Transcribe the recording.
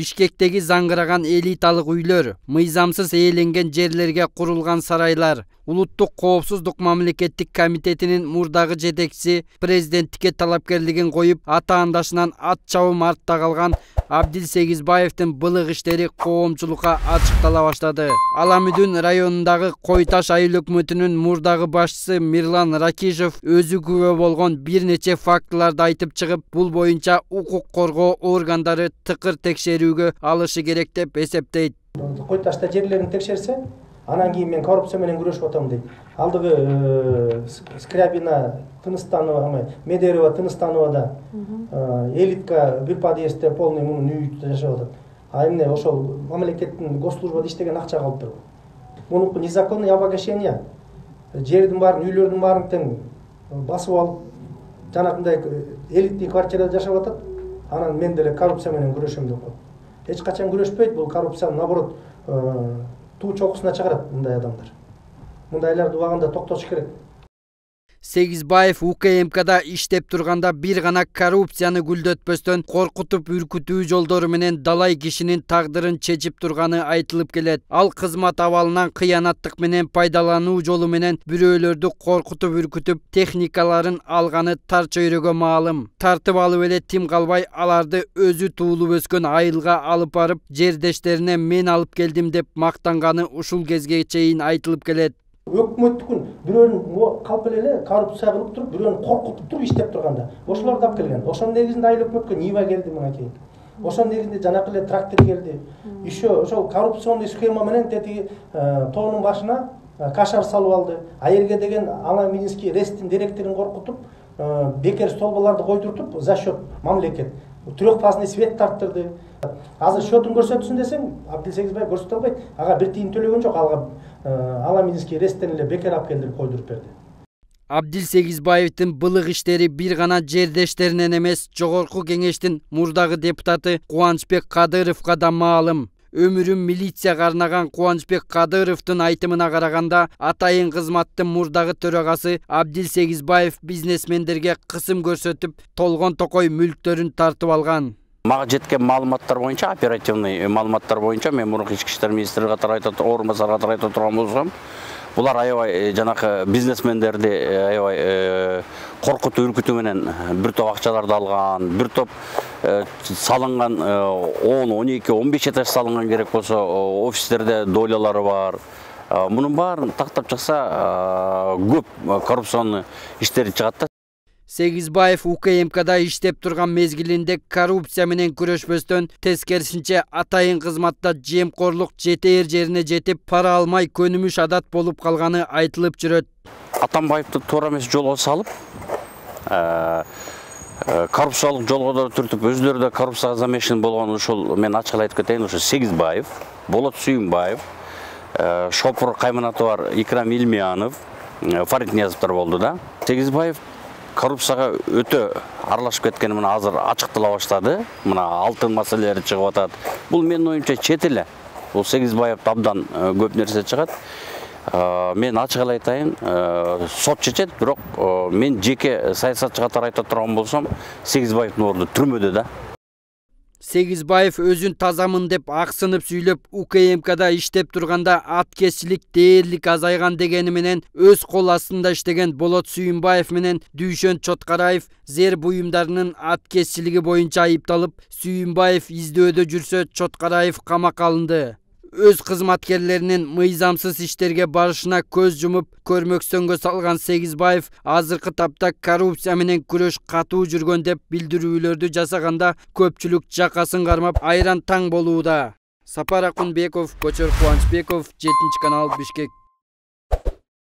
Бишкектеги заңгыраган элиталык үйлөр, мыйзамсыз ээленген жерлерге курулган сарайлар, Улуттук коопсуздук мамлекеттик комитетинин мурдагы жетекчиси президенттикке талапкерлигин коюп, атаандашынан ат чабым артта калган Абдил Сегизбаевдин былык иштери коомчулукка ачыктала баштады. Аламүдүн районундагы Кой Таш айыл өкмөтүнүн мурдагы башчысы Мирлан Ракишев өзү күбө болгон бир нече фактыларды айтып чыгып, бул боюнча укук коргоо органдары тыкыр текшерүүгө алышы керек деп эсептейт. Кой Ташта жерлерин текшерсе, анан кийин мен коррупция менен күрөшүп атам дейт. Алдыгы Скрябина Тыныстанова, Медерова Тыныстановада элитка бир подъездде полный мунун үйүндө жашап атат. А эмне ошол мамлекеттин госслужбада иштеген акча калып туруп. Мунуку незаконное обогащение. Жердин баарын, үйлөрдүн баарын тең басып алып, жанагындай элитный квартирада жашап атат. Анан мен деле коррупция менен күрөшөм деп коет. Эч качан күрөшпөйт, бул коррупция наоборот туу чокусуна чыгарат мындай адамдар. Мындайларды убагында токтотуш керек. Сегизбаев УКМКда иштеп турганда бир гана коррупцияны гүлдөтпөстөн коркутуп үркүтүү жолдору менен далай кишинин тагдырын чечип турганы айтылып келет. Ал кызмат абалынан кыянаттык менен пайдалануу жолу менен бирөөлөрдү коркутуп үркүтүп, техникаларын алганы тар чөйрөгө маалым. Тартып алып эле тим калбай, аларды өзү туулуп өскөн айылга алып барып, жердештерине мен алып келдим деп мактанганы ушул кезге чейин айтылып келет. Өкмөттүкүн бирөөнүн калп эле коррупция кылып туруп, бирөөнү коркутуп туруп иштеп турганда, ошолорду алып келген. Ошонун негизинде айыл өкмөткө Нива келди мынакей. Ошонун негизинде жанакы эле трактор келди. Еще ошол коррупционный схема менен тетиги тоонун башына кашар салып алды. Айырге деген Ала-Минский РЭСтин директорун коркутуп, бекер столбаларды койдуртуп, за счет мамлекет трехфазный свет тарттырды. Азыр счетун көрсөтсүн десең, Абдил Сегизбаев көрсөтө албайт. Ага бир тиын төлөгөн жок, алга Ала-Минский РЭСтен эле бекер алып келдирип койдуруп берди. Абдил Сегизбаевдин былык иштери бир гана жердештеринен эмес, Жогорку Кеңештин мурдагы депутаты Кубанычбек Кадыровго да маалым. Өмүрүн милицияга арнаган Кубанычбек Кадыровдун айтымына караганда, атайын кызматтын мурдагы төрагасы Абдил Сегизбаев бизнесмендерге кысым көрсөтүп, толгон токой мүлктөрүн тартып алган. Мага жеткен маалыматтар боюнча, оперативный маалыматтар боюнча, мен мурунку ички иштер министри катары орун басары катары айта турган болсом, булар аябай жанакы бизнесмендерди аябай коркутуу үркүтүү менен бир топ акчаларды алган, бир топ салынган 10, 12, 15 этаж салынган керек болсо офистерде долялары бар. Мунун баарын тактап чыкса көп коррупционный иштери чыгат да. Сегизбаев УКМКда иштеп турган мезгилинде коррупция менен күрөшпөстөн, тескерисинче атайын кызматта жемкорлук жетээр жерине жетип, пара алмай көнүмүш адат болуп калганы айтылып жүрөт. Атамбаевди туура эмес жолго салып, коррупциялык жолго түртүп, өздөрү да коррупцияга замешан болгон ушул, мен ачык айтып кетейин, ошо Сегизбаев, Болот Сүйүнбаев, Шопур кайманаты бар Икрам Илмиянов, Фарид Ниязовдор болду да. Сегизбаев коррупцияга өтө аралашып кеткени мына азыр ачыктала баштады. Мына алтын маселелери чыгып атат. Бул менин оюмча чет эле. Бул Сегизбаевди абдан көп нерсе чыгат. Мен ачык эле айтайын, сот чечет, бирок мен жеке саясатчы катары айта турган болсом, Сегизбаевдин орду түрмөдө да. Сегизбаев өзүн тазамын деп аксынып сүйлөп, УКМКда иштеп турганда аткезчилик дээрлик азайган дегени менен өз кол астында иштеген Болот Сүйүнбаев менен Дүйшөн Чоткараев зер буюмдарынын аткезчилиги боюнча айыпталып, Сүйүнбаев издөөдө жүрсө, Чоткараев камакка алынды. Өз кызматкерлеринин мыйзамсыз иштерге барышына көз жумуп, көрмөксөнгө салган Сегизбаев азыркы тапта коррупция менен күрөш катуу жүргөн деп билдирүүлөрдү жасаганда, көпчүлүк жакасын кармап айран таң болууда. Сапар Акунбеков, Кочор Кубанычбеков, 7 канал, Бишкек.